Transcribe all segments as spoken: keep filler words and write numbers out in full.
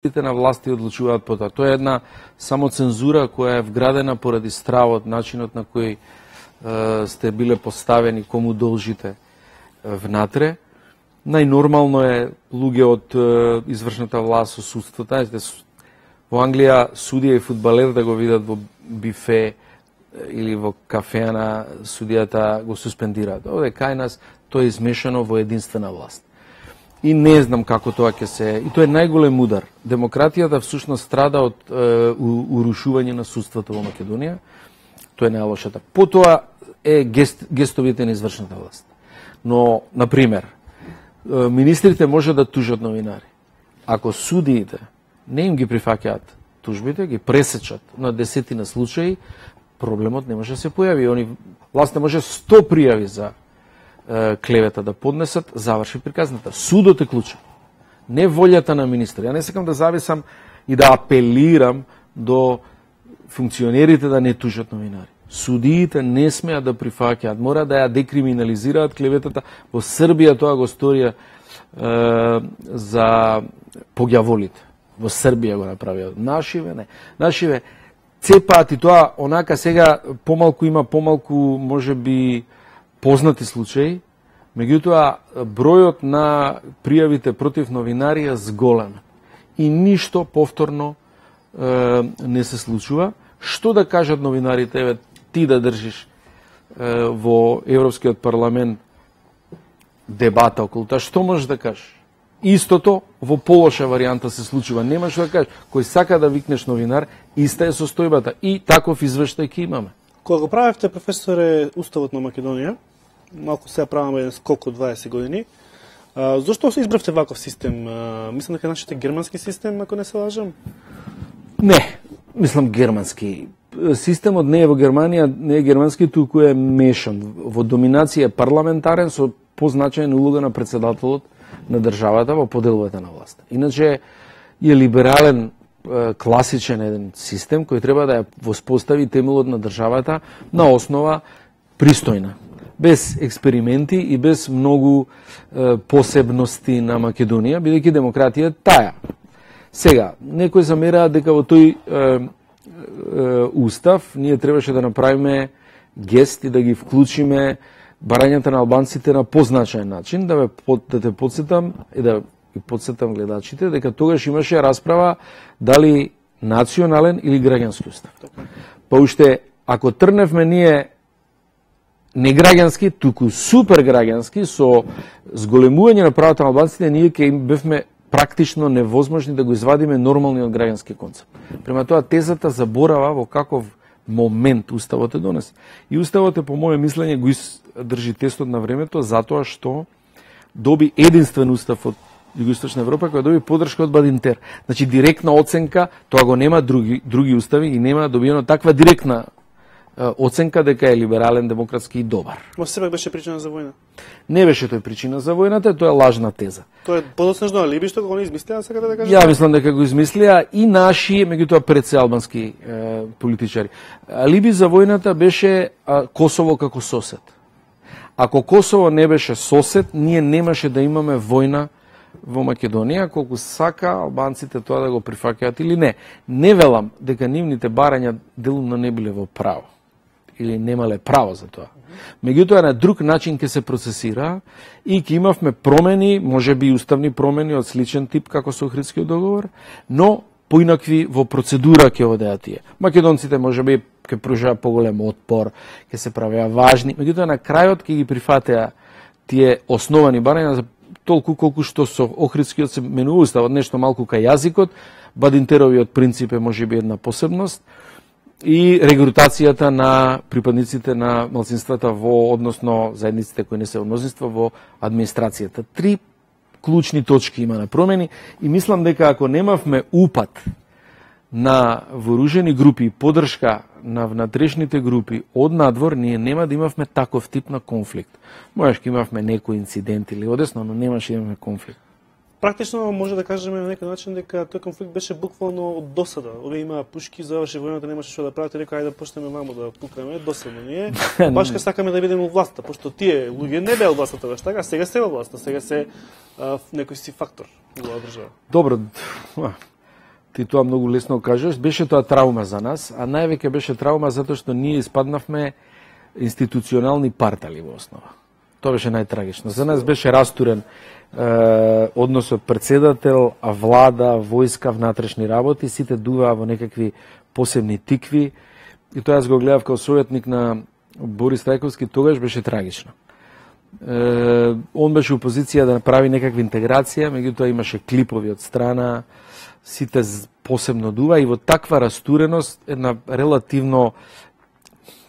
на власти одлучуваат по тоа. Тоа е една самоцензура која е вградена поради стравот, начинот на кој е, сте биле поставени, кому должите внатре. Најнормално е луѓе од е, извршната власт со судството. Во Англија судија и фудбалер да го видат во бифе или во кафеа на судијата го суспендираат. Овде кај нас тоа е измешано во единствена власт. И не знам како тоа ќе се... И тоа е најголем удар. Демократијата всушност страда од е, урушување на судството во Македонија. Тоа е најлошата. Потоа е гест, гестовите на извршната власт. Но, например, министрите може да тужат новинари. Ако судиите не им ги прифаќаат тужбите, ги пресечат на десетина случаи, проблемот не може да се појави. Они власт не може сто пријави за клевета да поднесат, заврши приказната. Судот е клучен. Не волјата на министри. Ја не сакам да зависам и да апелирам до функционерите да не тужат новинари. Судиите не смеат да прифаќаат, мора да ја декриминализираат клеветата. Во Србија тоа го сторија е, за погјаволите. Во Србија го направија. Нашиве не. Нашиве цепаат и тоа онака сега помалку има помалку можеби познати случаи, меѓутоа бројот на пријавите против новинари е зголем и ништо повторно е, не се случува. Што да кажат новинарите, еве ти да држиш е, во Европскиот парламент дебата околу тоа, што можеш да кажеш? Истото во полоша варијанта се случува. Нема што да кажеш. Кој сака да викнеш новинар, иста е состојбата и таков извештај ќе имаме. Кога го правевте, професоре, Уставот на Македонија, малку сега праваме еден скок од дваесет години, а, зошто се избравте ваков систем? А, мислам дека нашите германски систем, ако не се лажам? Не, мислам германски. Системот не е во Германија, не е германски, туку е мешан. Во доминација е парламентарен со позначајна улога на председателот на државата во поделување на власт. Иначе е либерален, класичен еден систем кој треба да ја воспостави темелот на државата на основа пристојна, без експерименти и без многу е, посебности на Македонија, бидејќи демократија таја. Сега, некои замераат дека во тој е, е, устав ние требаше да направиме гест и да ги вклучиме барањата на албанците на позначаен начин, да, ме, да те подсетам и да ги подсетам гледачите, дека тогаш имаше расправа дали национален или граѓански устав. Па уште, ако трневме ние не граѓански, туку супер граѓански, со зголемување на правата на албанците, ние ќе им бевме практично невозможни да го извадиме нормалниот граѓански концепт. Према тоа, тезата заборава во каков момент Уставот е донес. И Уставот е, по моје мислење, го држи тестот на времето, затоа што доби единствен устав од Југоисточна Европа, која доби поддршка од Бадинтер. Значи, директна оценка, тоа го нема други, други устави и нема добиено таква директна оценка дека е либерален, демократски и добар. Ма сепак беше причина за војна? Не беше тој причина за војната, тоа е лажна теза. Тоа е подоцнежно алиби што го не измислија, сакате да кажете? Ја мислам дека го измислија и наши, меѓутоа пред се албански е, политичари. Алиби за војната беше а, Косово како сосед. Ако Косово не беше сосед, ние немаше да имаме војна во Македонија, колку сака албанците тоа да го прифаќаат или не. Не велам дека нивните барања делумно не биле во право или немале право за тоа. Меѓутоа на друг начин ќе се процесира и ќе имавме промени, можеби и уставни промени од сличен тип како со Охридскиот договор, но поинакви во процедура ќе одеа тие. Македонците можеби ќе пружаа поголем отпор, ќе се правеа важни, меѓутоа на крајот ќе ги прифатеа тие основани барања за толку колку што со Охридскиот се менува уставот, нешто малку кај јазикот, Бадинтеровиот принцип е можеби една посебност и регрутацијата на припадниците на малцинствата во, односно заедниците кои не се во мнозинство, во администрацијата. Три клучни точки има на промени и мислам дека ако немавме упат на вооружени групи и поддршка на внатрешните групи од надвор, ние нема да имавме таков тип на конфликт. Можеш имавме некој инцидент или одесно, но немаше да имаме конфликт. Практично може да кажеме на некој начин дека тој конфликт беше буквално од досада. Овие имаа пушки, заврши војната, немаше што да правите, река ајде да почнеме мамо да пукаме, досадно ние. Баш ка сакаме да бидеме во власта, пошто тие луѓе не беа во власта тогаш, така, сега се во власта, сега се а, некој си фактор во оваа држава. Добро, ти тоа многу лесно кажеш, беше тоа траума за нас, а највеќе беше траума затоа што ние испаднавме институционални партали во основа. Тоа беше најтрагично. За нас беше растурен е, односот председател, а влада, војска, внатрешни работи, сите дуваа во некакви посебни тикви. И тоа јас го гледав како советник на Борис Трајковски, тогаш беше трагично. Е, он беше у позиција да направи некаква интеграција, меѓутоа имаше клипови од страна, сите посебно дува и во таква растуреност една релативно,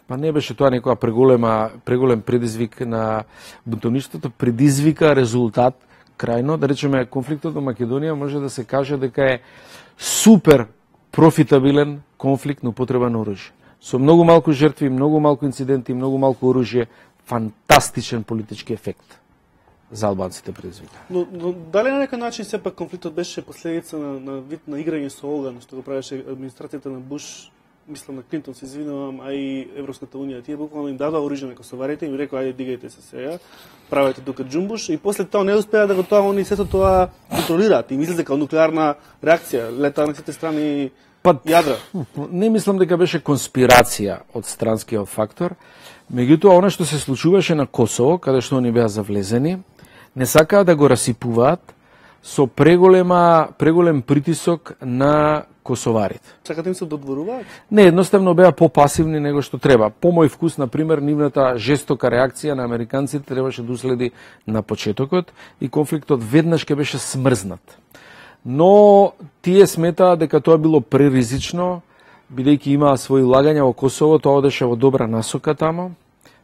па не беше тоа некоја преголема, преголем предизвик на бунтовништвото, предизвика резултат крајно, да речеме конфликтот во Македонија може да се каже дека е супер профитабилен конфликт на употреба на оружје. Со многу малку жртви, многу малку инциденти, многу малку оружје, фантастичен политички ефект за албанците предизвика. Но, но дали на некој начин сепак конфликтот беше последица на, на вид на играње со оган, што го правеше администрацијата на Буш, мислам на Клинтон, се извинувам, а и Европската унија, тие буквално им дадоа оружје на косоварите и им рекоа ајде дигајте се сега, правете тука џумбуш и после тоа не успеа да го тоа они сето тоа контролираат и мислат дека нуклеарна реакција лета на сите страни па, јадра. Не мислам дека беше конспирација од странскиот фактор, меѓутоа она што се случуваше на Косово, каде што они беа завлезени, не сакаа да го расипуваат со преголема преголем притисок на косоварите. Сакате им се додворуваат? Не, едноставно беа попасивни него што треба. По мој вкус, на пример, нивната жестока реакција на американците требаше да уследи на почетокот и конфликтот веднаш ќе беше смрзнат. Но тие сметаа дека тоа било преризично, бидејќи имаа своји лагања во Косово, тоа одеше во добра насока тамо.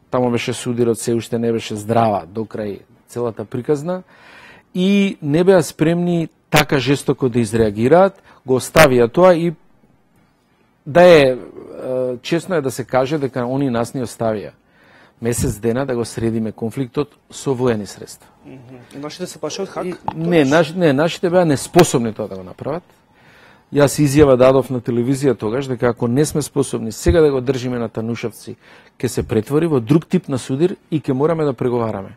Тамо беше судирот, се уште не беше здрава до крај целата приказна и не беа спремни така жестоко да изреагираат, го оставија тоа и да е, честно е да се каже дека они нас не оставија месец дена да го средиме конфликтот со воени средства. Mm -hmm. Нашите се пашат хак? И, не, наш, не, нашите беа неспособни тоа да го направат. Јас изјава дадов на телевизија тогаш дека ако не сме способни сега да го држиме на Танушевци, ќе се претвори во друг тип на судир и ќе мораме да преговараме.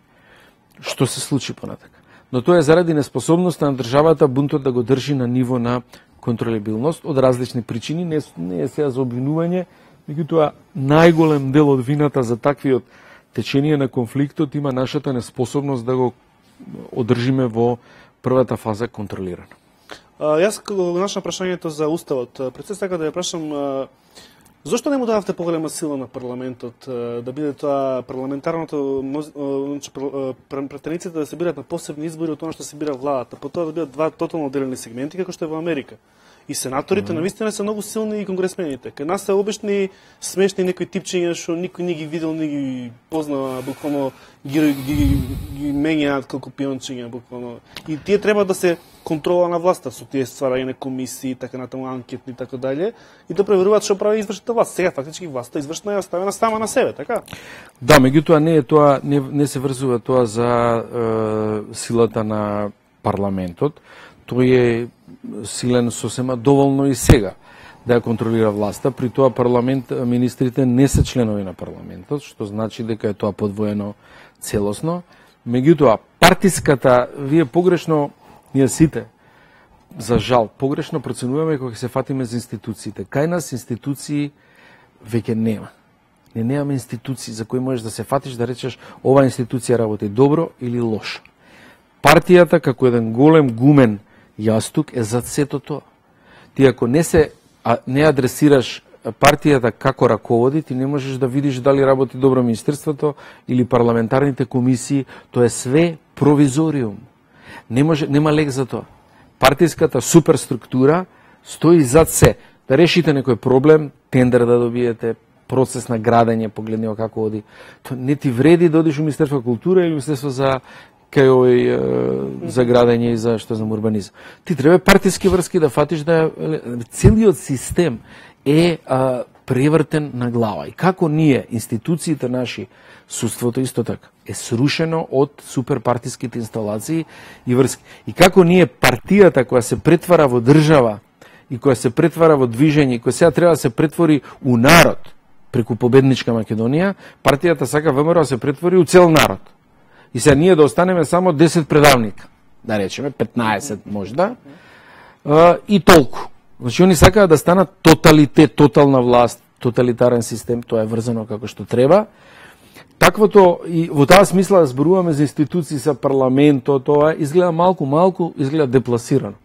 Што се случи понатака. Но тоа е заради неспособноста на државата бунтот да го држи на ниво на контролебилност од различни причини, не, не е сега за обвинување, меѓутоа најголем дел од вината за таквиот течение на конфликтот има нашата неспособност да го одржиме во првата фаза контролирано. А, јас кога го нашам прашањето за уставот, пред се сакам да ја прашам а, зошто не му дадавте поголема сила на парламентот, а, да биде тоа парламентарното, значи претениците да се бират на посебни избори од тоа што се бира владата, по тоа да бидат два тотално отделени сегменти како што е во Америка. И сенаторите mm -hmm. навистина се многу силни и конгресмените. Кај нас се обични смешни некои типчиња што никој не ги видел, не ги познава, буквално ги, ги, ги, ги менјаат како пиончиња, буквално. И тие треба да се контрола на власта со тие стварање на комисии, така натаму анкетни и така дале, и да проверуваат што прави извршната власт. Сега фактички власта извршна е оставена сама на себе, така? Да, меѓутоа не е тоа, не, не се врзува тоа за е, силата на парламентот. Тој е силен сосема доволно и сега да ја контролира власта. При тоа парламент, министрите не се членови на парламентот, што значи дека е тоа подвоено целосно. Меѓутоа, партиската, вие погрешно, ние сите, за жал, погрешно проценуваме кога се фатиме за институциите. Кај нас институции веќе нема. Не немаме институции за кои можеш да се фатиш да речеш ова институција работи добро или лошо. Партијата како еден голем гумен јастук е зад сето тоа. Ти ако не се а, не адресираш партијата како раководи, ти не можеш да видиш дали работи добро министерството или парламентарните комисии, тоа е све провизориум. Не може, нема лек за тоа. Партиската суперструктура стои зад се. Да решите некој проблем, тендер да добиете, процес на градење, погледнео како оди. Тоа не ти вреди да одиш у Министерство култура или Министерство за кај овој за градење и за што за урбанизам. Ти треба партиски врски да фатиш да целиот систем е а, превртен на глава. И како ние, институциите наши, судството исто така, е срушено од суперпартиските инсталации и врски. И како ние партијата која се претвара во држава и која се претвара во движење, која сега треба да се претвори у народ преку победничка Македонија, партијата сака ВМРО да се претвори у цел народ. И сега ние да останеме само десет предавника, да речеме, петнаесет можда, и толку. Значи, они сакаат да станат тоталитет, тотална власт, тоталитарен систем, тоа е врзано како што треба. Таквото, и во таа смисла да зборуваме за институции, за парламентот, тоа изгледа малку, малку, изгледа депласирано.